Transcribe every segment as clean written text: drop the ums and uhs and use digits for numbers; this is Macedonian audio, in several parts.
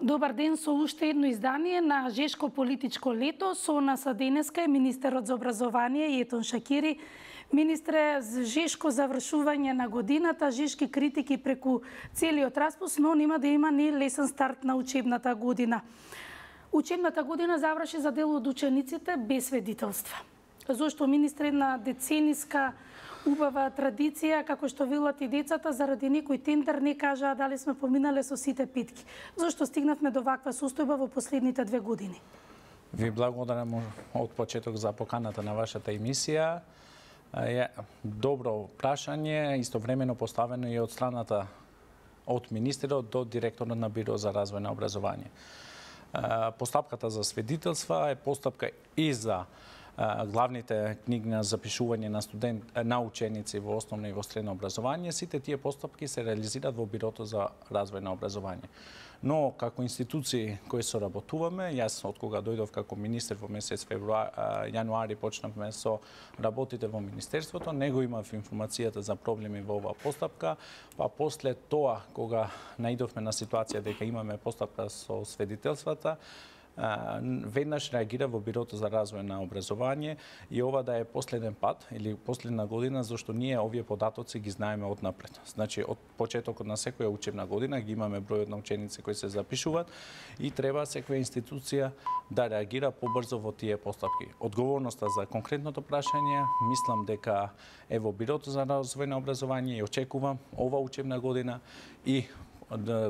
Добар ден, со уште едно издание на Жешко политичко лето. Со нас денеска е министерот за образование Етон Шакири. Министре, Жешко завршување на годината, жешки критики преку целиот распуст, но нема да има ни лесен старт на учебната година. Учебната година заврши за дел од учениците без свидетелства. Зошто, министре, една децениска убава традиција, како што велат и децата, заради некој тендер не кажаа дали сме поминале со сите петки. Зошто стигнавме до ваква состојба во последните 2 години? Ви благодарам од почеток за поканата на вашата емисија. Добро прашање, истовремено поставено и од страната од министерот до директорот на Биро за развој на образование. Постапката за свидетелства е постапка и за главните книги на запишување на ученици во основно и во средно образование. Сите тие постапки се реализираат во Бирото за развој на образование. Но како институции кои соработуваме, јас од кога дојдов како министер во месец јануари почнавме со работите во министерството, него имав информацијата за проблеми во оваа постапка, па после тоа кога наидовме на ситуација дека имаме постапка со свидетелствата, веднаш реагира во Бирото за развој на образование и ова да е последен пат или последна година, зашто ние овие податоци ги знаеме однапред. Значи, од почетокот на секоја учебна година ги имаме бројот на ученици кои се запишуваат и треба секоја институција да реагира побрзо во тие постапки. Одговорноста за конкретното прашање, мислам дека е во Бирото за развој на образование и очекувам ова учебна година и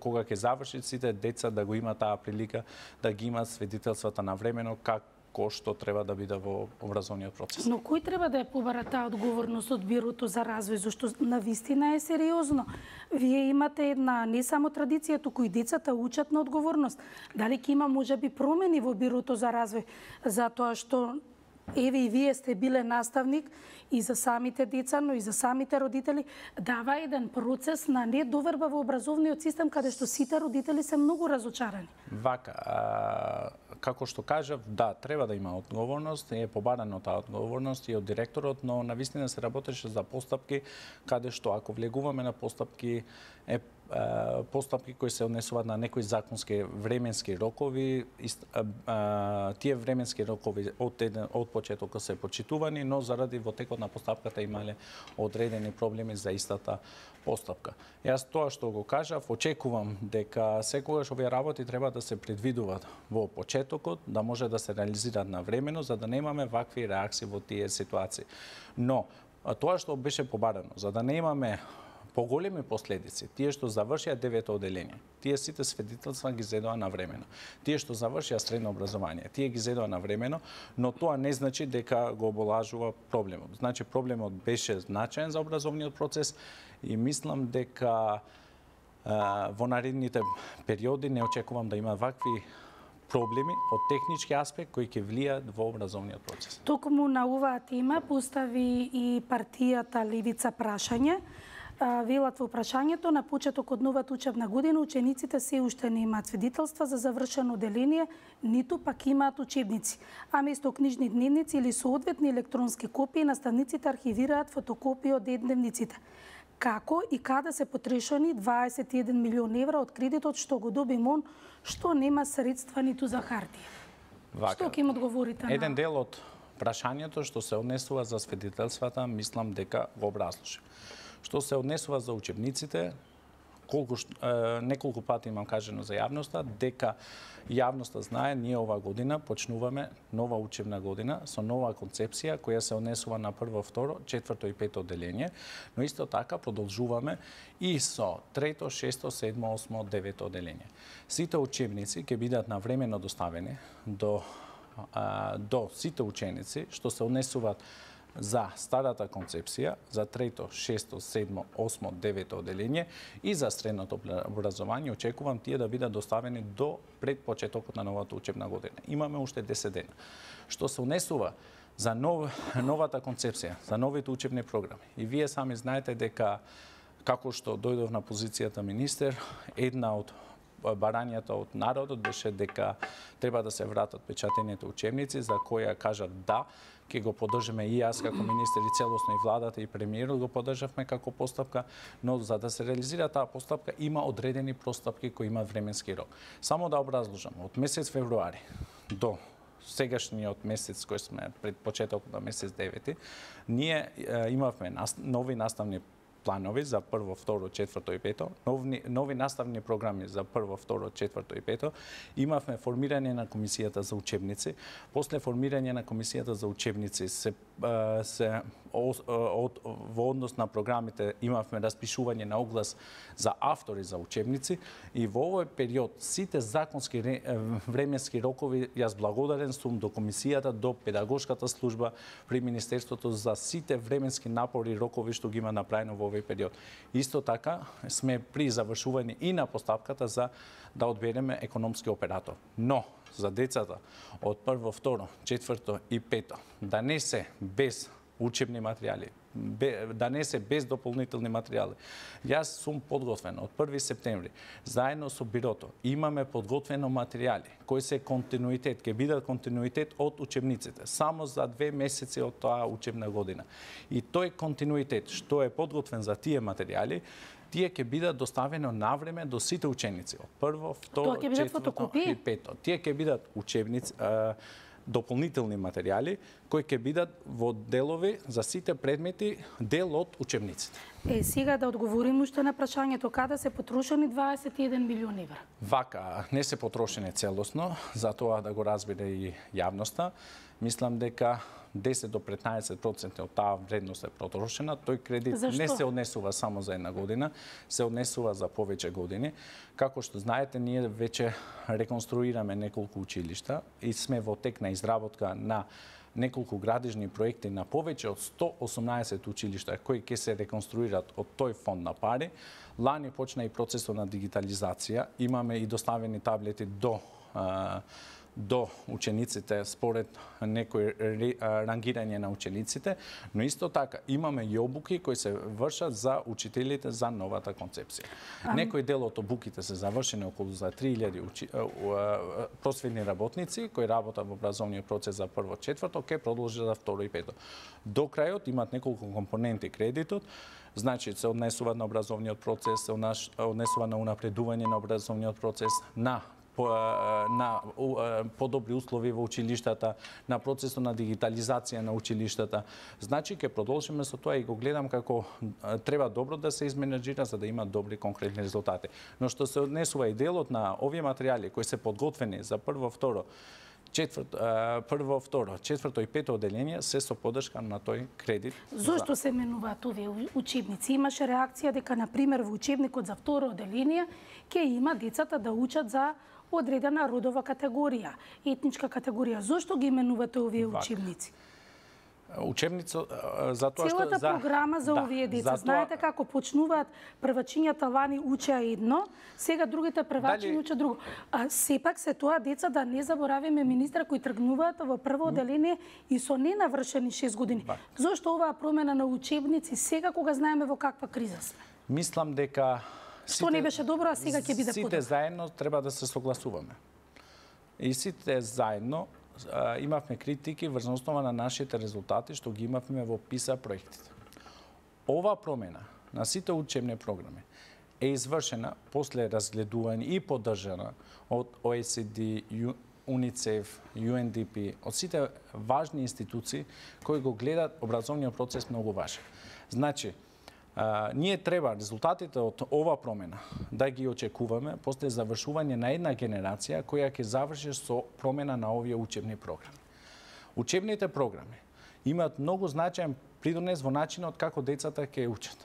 кога ќе завршат сите деца да го има таа прилика да ги имаат свидетелствата навремено како што треба да биде во образовниот процес. Но кој треба да ја побара таа одговорност од Бирото за развој, зашто навистина е сериозно. Вие имате една не само традиција, туку и децата учат на одговорност. Дали ќе има можеби промени во Бирото за развој, затоа што еве и вие сте биле наставник и за самите деца, но и за самите родители, дава еден процес на недоверба во образовниот систем, каде што сите родители се многу разочарани. Вака, како што кажав, да, треба да има одговорност, е побарано таа одговорност и од директорот, но навистина се работеше за постапки, каде што ако влегуваме на постапки, постапки кои се однесуваат на некои законски временски рокови, тие временски рокови од почетокот се почитувани, но заради во текот на постапката имале одредени проблеми за истата постапка. Јас тоа што го кажав, очекувам дека секогаш овие работи треба да се предвидуваат во почетокот, да може да се реализираат навремено, за да немаме вакви реакции во тие ситуации. Но тоа што беше побарано, за да не имаме поголеми последици, тие што завршија 9-то одделение, тие сите свидетелства ги зедоа навремено. Тие што завршија средно образование, тие ги зедоа навремено, но тоа не значи дека го оболажува проблемот. Значи проблемот беше значаен за образовниот процес и мислам дека во наредните периоди не очекувам да има вакви проблеми од технички аспект кои ќе влијаат во образовниот процес. Токму на оваа тема постави и партијата Левица прашање. Велат во прашањето, на почеток од новата учебна година учениците се уште не имаат свидетелства за завршено одделение, ниту пак имаат учебници, а место книжни дневници или соодветни електронски копии наставниците архивираат фотокопии од дневниците. Како и каде се потрошени 21 милион евра од кредитот што го доби МОН, што нема средства ниту за хартија? Што ќе им одговорите на? Еден дел од прашањето што се однесува за свидетелствата, мислам дека го образложи. Што се однесува за учебниците, неколку пати имам кажано за јавноста, дека јавноста знае, ние оваа година почнуваме нова учебна година со нова концепција која се однесува на прво, второ, четврто и пето одделение, но исто така продолжуваме и со трето, шесто, седмо, осмо, девето одделение. Сите учебници ќе бидат навремено доставени до сите ученици што се однесуваат за старата концепција, за трето, шесто, седмо, осмо, девето одделение и за средното образование, очекувам тие да бидат доставени до пред почетокот на новата учебна година. Имаме уште 10 дена. Што се однесува за новата концепција, за новите учебни програми. И вие сами знаете дека, како што дојдов на позицијата министер, една од барањата од народот беше дека треба да се вратат печатените учебници, за која кажат да, ќе го поддржиме и јас како министер и целосно и владата и премиерот го поддржавме како постапка, но за да се реализира таа постапка има одредени постапки кои имаат временски рок. Само да образложам, од месец февруари до сегашниот месец кој сме пред почетокот на месец 9, ние имавме нови наставни планови за прво, второ, четврто и пето, нови наставни програми за прво, второ, четврто и пето, имавме формирање на комисијата за учебници, после формирање на комисијата за учебници во однос на програмите имавме распишување на оглас за автори за учебници и во овој период сите законски временски рокови јас благодарен сум до комисијата, до педагошката служба при Министерството за сите временски напори и рокови што ги има направено во овој период. Исто така сме при завршување и на постапката за да одбереме економски оператор. Но за децата од прво, второ, четврто и пето да не се без учебни материјали, да не се без дополнителни материјали. Јас сум подготвен од 1 септември, заедно со бирото, имаме подготвено материјали кои се континуитет, ќе бидат континуитет од учебниците, само за 2 месеци од таа учебна година. И тој континуитет што е подготвен за тие материјали, тие ќе бидат доставено навреме до сите ученици, од прво, второ, четврто и пето. Тие ќе бидат учебници, дополнителни материјали кои ќе бидат во делови за сите предмети дел од учебниците. Сега да одговорим уште на прашањето каде се потрошени 21 милиони евра. Вака, не се потрошени целосно, за тоа да го разбере и јавноста. Мислам дека 10 до 15% од таа вредност е потрошена. Тој кредит не се однесува само за една година, се однесува за повеќе години. Како што знаете, ние веќе реконструираме неколку училишта и сме во тек на изработка на неколку градежни проекти на повеќе од 118 училишта кои ќе се реконструират од тој фонд на пари. Лани почна и процесот на дигитализација. Имаме и доставени таблети до учениците според некој рангирање на учениците, но исто така имаме и обуки кои се вршат за учителите за новата концепција. Некој дел од обуките се завршени околу за 3000 просветни работници кои работат во образовниот процес за прво, четврто, ќе продолжи за второ и пето. До крајот имаат неколку компоненти кредитот, значи се однесува на образовниот процес, се однесува на унапредување на образовниот процес, на подобри услови во училиштата, на процесот на дигитализација на училиштата. Значи, ќе продолжиме со тоа и го гледам како треба добро да се изменеджира за да има добри конкретни резултати. Но што се однесува и делот на овие материјали кои се подготвени за прво, второ, четврто и пето одделение се со поддршка на тој кредит. Зошто се менуваат овие учебници? Имаше реакција дека, например, во учебникот за второ одделение ќе има децата да учат за одредена родова категорија, етничка категорија. Зошто ги именувате овие учебници? Учебницо за тоа што целата програма за овие деца. Знаете како почнуваат првачињата лани учеа едно, сега другите првачиња учат друго. А сепак се тоа деца да не заборавиме министра кои тргнуваат во прво одделение и со ненавршени 6 години. Зошто оваа промена на учебници сега кога знаеме во каква криза сме? Мислам дека што не беше добро, а сега ќе биде подобро. Сите заедно треба да се согласуваме. И сите заедно имавме критики врз основа на нашите резултати што ги имавме во ПИСА проектите. Ова промена на сите учебни програми е извршена после разгледување и поддржана од OECD, УНИЦЕФ, UNDP, од сите важни институции кои го гледат образовниот процес многу важен. Значи, ние треба резултатите од ова промена да ги очекуваме после завршување на една генерација која ќе заврши со промена на овие учебни програми. Учебните програми имаат многу значаен придонес во начинот како децата ќе учат.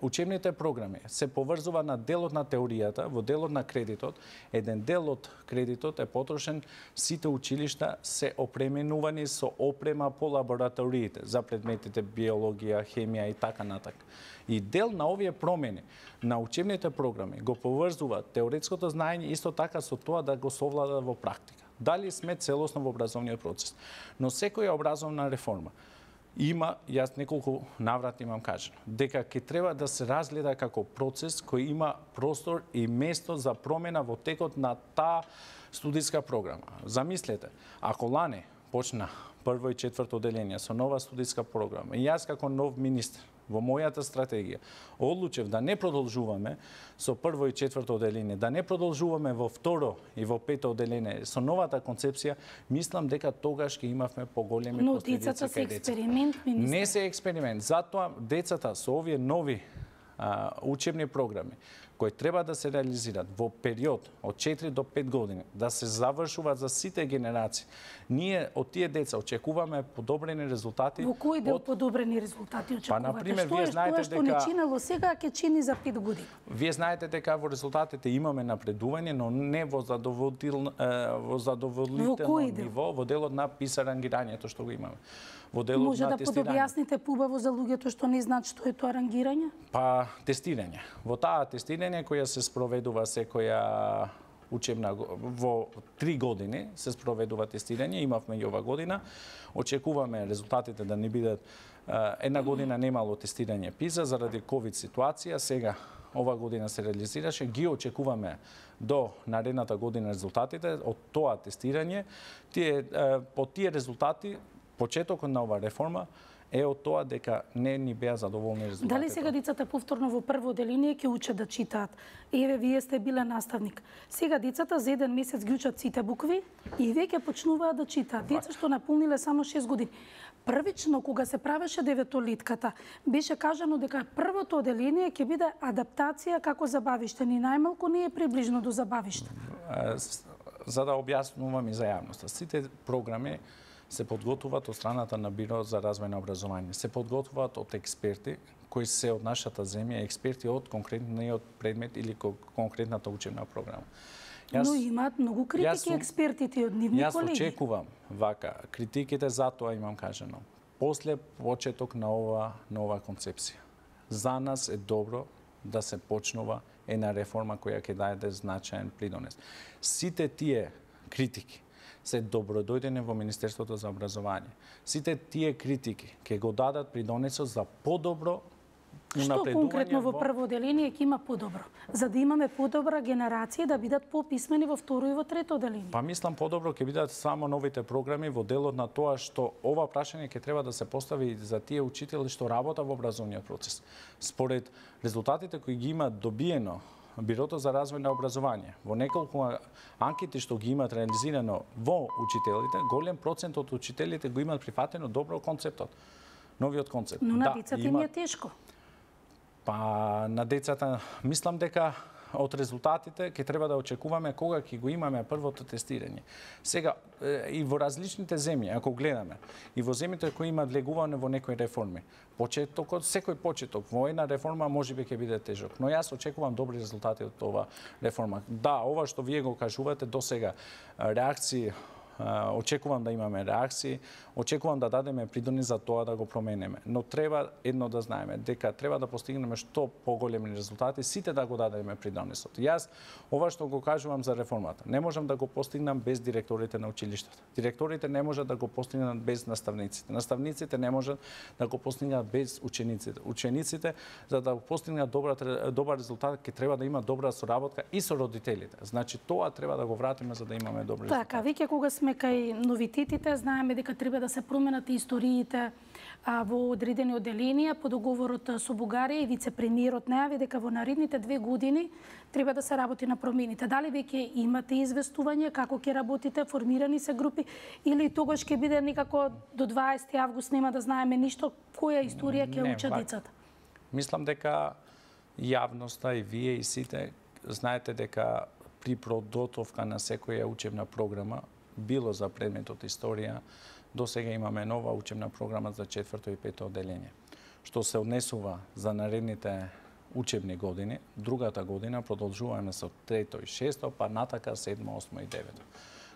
Учебните програми се поврзува на делот на теоријата, во делот на кредитот. Еден дел од кредитот е потрошен, сите училишта се опременувани со опрема по лабораториите за предметите биологија, хемија и така натака. И дел на овие промени на учебните програми го поврзува теоретското знаење исто така со тоа да го совлада во практика. Дали сме целосно во образовниот процес. Но секоја образовна реформа Јас неколку наврати имам кажано, дека ќе треба да се разгледа како процес кој има простор и место за промена во текот на таа студиска програма. Замислете, ако лане почна прво и четврто одделение со нова студиска програма, и јас како нов министер во мојата стратегија одлучев да не продолжуваме со прво и четврто одделение, да не продолжуваме во второ и во пето одделение со новата концепција, мислам дека тогаш ќе имавме поголеми последици. Но децата се експеримент, министер. Не се експеримент, затоа децата со овие нови учебни програми кои треба да се реализираат во период од 4 до 5 години, да се завршуваат за сите генерации. Ние од тие деца очекуваме подобрени резултати. Во кој дел подобрени резултати очекувате? Па, например, вие знаете што не чинело сега, ќе чини за 5 години. Вие знаете дека во резултатите имаме напредување, но не во задоволително ниво во делот на PISA рангирањето што го имаме. Во делот може на да подобјасните побаво за луѓето што не знаат што е тоа рангирање? Па, тестирање. Во таа тестирање која се спроведува секоја учебна во 3 години се спроведува тестирање, имавме и ова година. Очекуваме резултатите да не бидат една година немало тестирање PISA заради ковид ситуација, сега ова година се реализираше, ги очекуваме до наредната година резултатите од тоа тестирање. По тие резултати почетокот на ова реформа е од тоа дека не ни беа задоволни резултатите. Дали сега децата повторно во прво одделение ќе учат да читаат? Еве, вие сте биле наставник. Сега децата за еден месец ги учат сите букви и веќе почнуваат да читаат. Деца што наполниле само 6 години. Првично, кога се правеше деветолетката, беше кажано дека првото одделение ќе биде адаптација како забавиште, ни најмалку не е приближно до забавиште. За да објаснувам и за јавноста, сите програми се подготвуваат од страната на Биро за развој на образование. Се подготвуваат од експерти кои се од нашата земја, експерти од конкретниот предмет или конкретната учебна програма. Но имаат многу критики експертите од нивни колеги. Јас очекувам вака критиките, затоа имам кажано. После почеток на ова концепција. За нас е добро да се почнува една реформа која ќе даде значаен придонес. Сите тие критики се добродојдени во Министерството за образование. Сите тие критики ќе го дадат придонесот за подобро унапредување. Што конкретно во прво одделение ќе има подобро? За да имаме подобра генерација да бидат пописмени во второ и во трето одделение. Па мислам подобро ќе бидат само новите програми во делот на тоа што ова прашање ќе треба да се постави за тие учители што работат во образовниот процес. Според резултатите кои ги имаат добиено Бирото за развој на образование, во неколку анкети што ги имаат реализирано во учителите, голем процент од учителите го имаат прифатено добро концептот, новиот концепт. Но на децата им е тешко. Па на децата мислам дека од резултатите ќе треба да очекуваме кога ќе го имаме првото тестирање. Сега и во различните земји, ако гледаме, и во земјите кои имаат влегуване во некои реформи, секој почеток во една реформа можеби ќе биде тежок, но јас очекувам добри резултати од ова реформа. Да, ова што вие го кажувате до сега, реакции, очекувам да имаме реакции, очекувам да дадеме придонес за тоа да го променеме. Но треба едно да знаеме, дека треба да постигнеме што поголеми резултати, сите да го дадеме придонесот. Јас ова што го кажувам за реформата, не можам да го постигнам без директорите на училиштата. Директорите не можат да го постигнат без наставниците. Наставниците не можат да го постигнат без учениците. Учениците за да постигнат добар резултат ќе треба да имаат добра соработка и со родителите. Значи тоа треба да го вратиме за да имаме добри резултати. Така, веќе кога сме кај новитетите, знаеме дека треба да се променат историите во одредени одделенија по договорот со Бугарија и вице-премиерот најави дека во наредните 2 години треба да се работи на промените. Дали веќе имате известување како ќе работите, формирани се групи или тогаш ќе биде некако до 20 август нема да знаеме ништо, која историја ќе учат децата? Мислам дека јавноста и вие и сите знаете дека при подготовка на секоја учебна програма, било за предметот историја, до сега имаме нова учебна програма за 4-то и 5-то одделение, што се однесува за наредните учебни години. Другата година продолжуваме со 3-то и 6-то, па натака 7-то, 8-то и 9-то.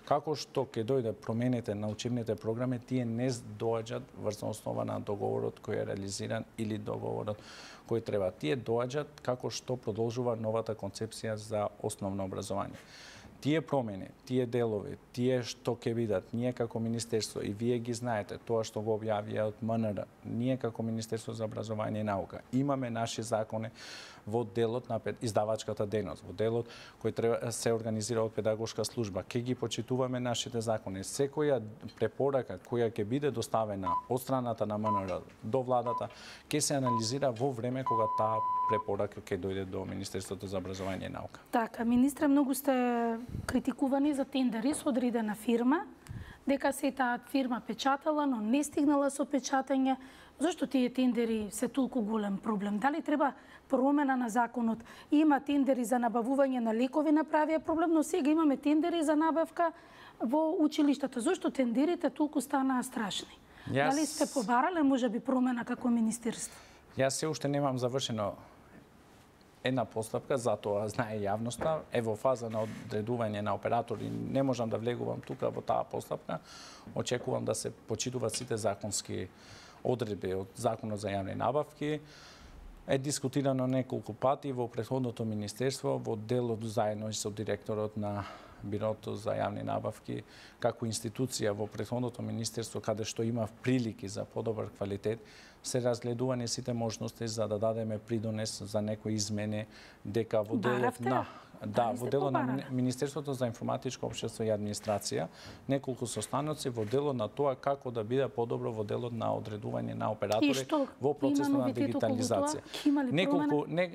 Како што ќе дојде промените на учебните програми, тие не доаѓаат врз основа на договорот кој е реализиран или договорот кој треба. Тие доаѓаат како што продолжува новата концепција за основно образование. тие промени, тие делови, тие што ќе бидат, ние како Министерство, и вие ги знаете, тоа што го објавија од МНР, ние како Министерство за образование и наука, имаме наши закони во делот на издавачката дејност, во делот кој треба се организира од педагошка служба. Ќе ги почитуваме нашите закони. Секоја препорака која ќе биде доставена од страната на МНР до владата, ќе се анализира во време кога таа препорака ќе дојде до Министерството за образование и наука. Така, министре, многу сте критикувани за тендери со одредена фирма, дека се таа фирма печатала, но не стигнала со печатање. Зошто тие тендери се толку голем проблем? Дали треба промена на законот? Има тендери за набавување на лекови, направија проблем, но сега имаме тендери за набавка во училиштата. Зошто тендерите толку станаа страшни? Дали сте побарале можеби промена како министерство? Јас се уште немам завршено една постапка, затоа знае јавноста, е во фаза на одредување на оператори, не можам да влегувам тука во таа постапка. Очекувам да се почитуваат сите законски одредби од Законот за јавни набавки. Е дискутирано неколку пати во претходното министерство, во делот заедно и со директорот на Бирото за јавни набавки, како институција во претходното министерство, каде што има прилики за подобар квалитет, се разгледувани сите можности за да дадеме придонес за некои измени, дека во делот на во делот на Министерството за информатичко општество и администрација, неколку состаноци во делот на тоа како да биде подобро во делот на одредување на оператори во процесот на дигитализација.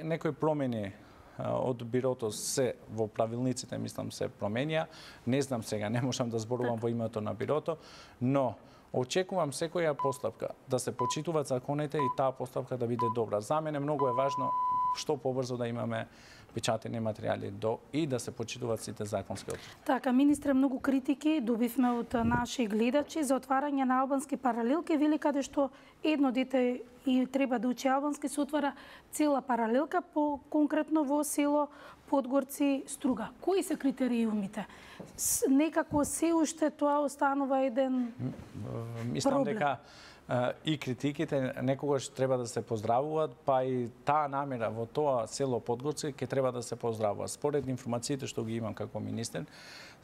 Некои промени од бирото се во правилниците, мислам, се променија. Не знам сега, не можам да зборувам во името на бирото, но очекувам секоја постапка да се почитуваат законите и таа постапка да биде добра. За мене многу е важно што побрзо да имаме печатени материјали и да се почитуваат сите законски одредби. Така, министре, многу критики добивме од наши гледачи за отварање на албански паралелки, вели каде што едно дете и треба да учи албански, се отвара цела паралелка, конкретно во село Подгорци, Струга. Кои се критериумите? Некако се уште тоа останува еден Мислам дека и критиките некогаш треба да се поздравуваат, па и таа намера во тоа село Подгорци ќе треба да се поздравува. Според информациите што ги имам како министер,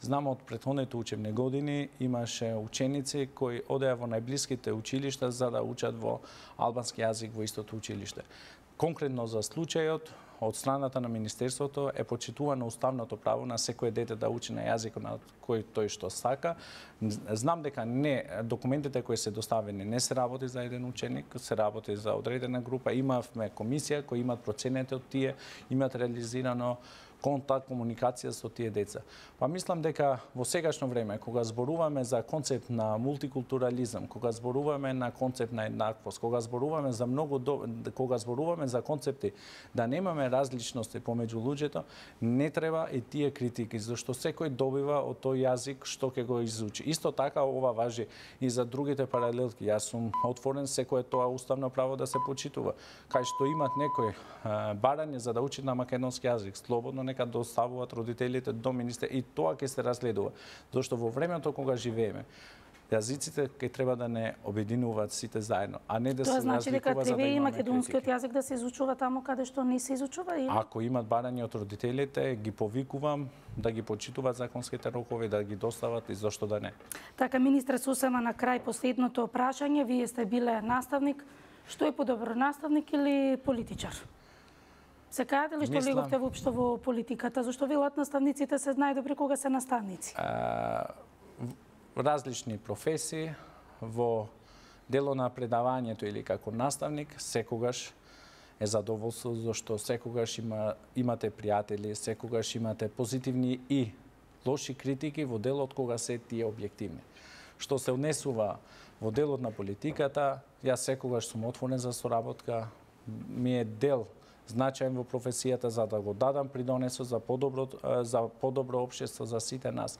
знам од претходните учебни години имаше ученици кои одеа во најблиските училишта за да учат во албански јазик во истото училиште. Конкретно за случајот, од страната на Министерството е почитувано уставното право на секое дете да учи на јазикот на кој тој што сака. Знам дека документите кои се доставени не се работи за еден ученик, се работи за одредена група. Имавме комисија кои имат проценете од тие, имат реализирано контакт, комуникација со тие деца. Па мислам дека во сегашно време, кога зборуваме за концепт на мултикултурализам, кога зборуваме на концепт на еднаквост, кога зборуваме за концепти да немаме различности помеѓу луѓето, не треба и тие критики, зашто секој добива од тој јазик што ќе го изучи. Исто така ова важи и за другите паралелки. Јас сум отворен секое тоа уставно право да се почитува. Кај што имат некој барање за да учат на македонски јазик, слободно нека доставуваат родителите до министер и тоа ќе се разгледува. Зашто во времето кога живееме, јазиците ќе треба да не обединуваат сите заедно, а не да се разликува за да имаме критики. Тоа значи дека треба и македонскиот јазик да се изучува таму каде што не се изучува? Ако имат барање од родителите, ги повикувам да ги почитуваат законските рокови, да ги достават и зошто да не. Така, министре, сосема на крај последното прашање. Вие сте биле наставник. Што е подобро, наставник или политичар? Се кажете ли што леговте воопшто во политиката? Зашто велат наставниците се најдобри кога се наставници? Различни професии, во дело на предавањето или како наставник, секогаш е задоволство, зашто секогаш имате пријатели, секогаш имате позитивни и лоши критики во делот кога се тие објективни. Што се однесува во делот на политиката, јас секогаш сум отворен за соработка, ми е дел значаен во професијата за да го дадам придонесот за подобро општество за сите нас.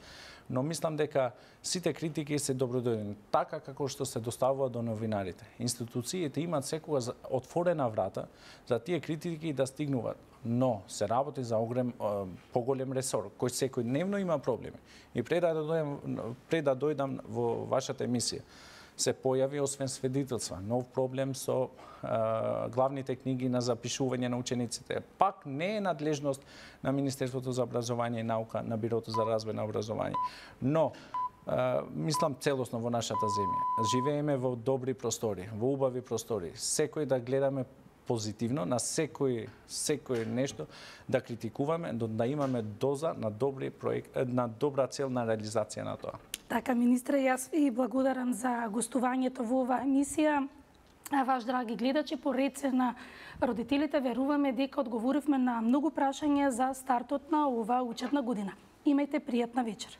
Но мислам дека сите критики се добродојдени, така како што се доставува до новинарите. Институциите имаат секогаш отворена врата за тие критики да стигнуваат, но се работи за поголем ресор, кој секојдневно има проблеми. И пред да дојдам во вашата емисија, се појави освен свидетелства нов проблем со главните книги на запишување на учениците. Пак не е надлежност на Министерството за образование и наука, на Бирото за развој на образование. Но мислам целосно во нашата земја. Живееме во добри простори, во убави простори. Секој да гледаме позитивно на секој нешто, да критикуваме, да имаме доза на добри проект, на добра цел на реализација на тоа. Така, министре, јас ви благодарам за гостувањето во оваа емисија. А ваш, драги гледачи, по рece на родителите, веруваме дека одговоривме на многу прашања за стартот на оваа учебна година. Имајте пријатна вечер.